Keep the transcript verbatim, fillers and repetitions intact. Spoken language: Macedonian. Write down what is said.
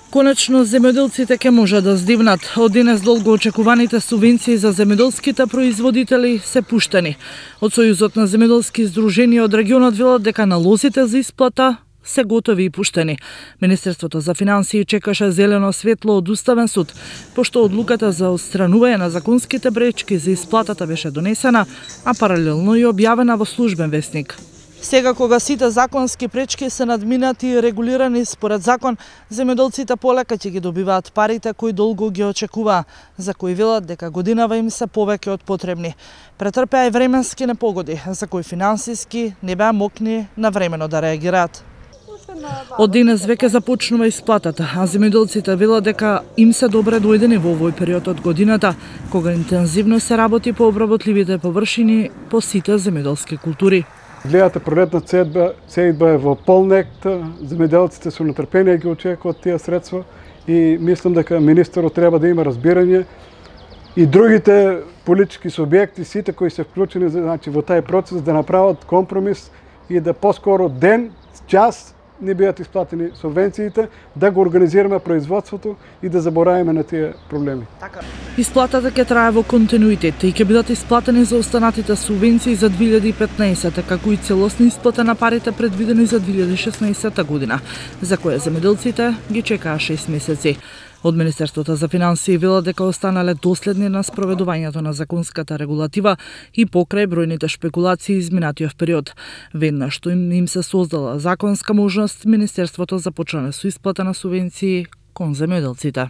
Конечно, земјоделците ќе може да здивнат. Од денес долго очекуваните субвенции за земјоделските производители се пуштени. Од Сојузот на земјоделски издруженија од регионот велат дека налозите за исплата се готови и пуштени. Министерството за финансии чекаше зелено светло од Уставен суд, пошто одлуката за отстранување на законските пречки за исплатата беше донесена, а паралелно и објавена во службен весник. Сега кога сите законски пречки се надминати и регулирани според закон, земјоделците полека ќе ги добиваат парите кои долго ги очекуваа, за кои велат дека годинава им се повеќе од потребни. Претрпеа и временски непогоди, за кои финансиски не беа мокни навремено да реагираат. Од денес веќе започнува исплатата, а земјоделците велат дека им се добре дојдени во овој период од годината, кога интензивно се работи по обработливите површини по сите земјоделски култури. Гледате, пролетна сејдба, сејдба е во полнект, земјоделците со нетрпение ги очекуваат тие средства и мислам дека министерот треба да има разбирање и другите политички субјекти, сите кои се вклучени значи, во тај процес да направат компромис и да поскоро ден, час не бидат исплатени субвенциите, да го организираме производството и да забораваме на тие проблеми. Исплатата ќе трае во континуитет и ќе бидат исплатени за останатите субвенции за две илјади и петнаесета, како и целосна исплата на парите предвидени за две илјади и шеснаесета година, за која земјоделците ги чекаа шест месеци. Од Министерството за финансии велат дека останале доследни на спроведувањето на законската регулатива и покрај бројните шпекулации изминатиот период. Веднаш што им, им се создала законска можност, Министерството започна со исплата на субвенции кон земјоделците.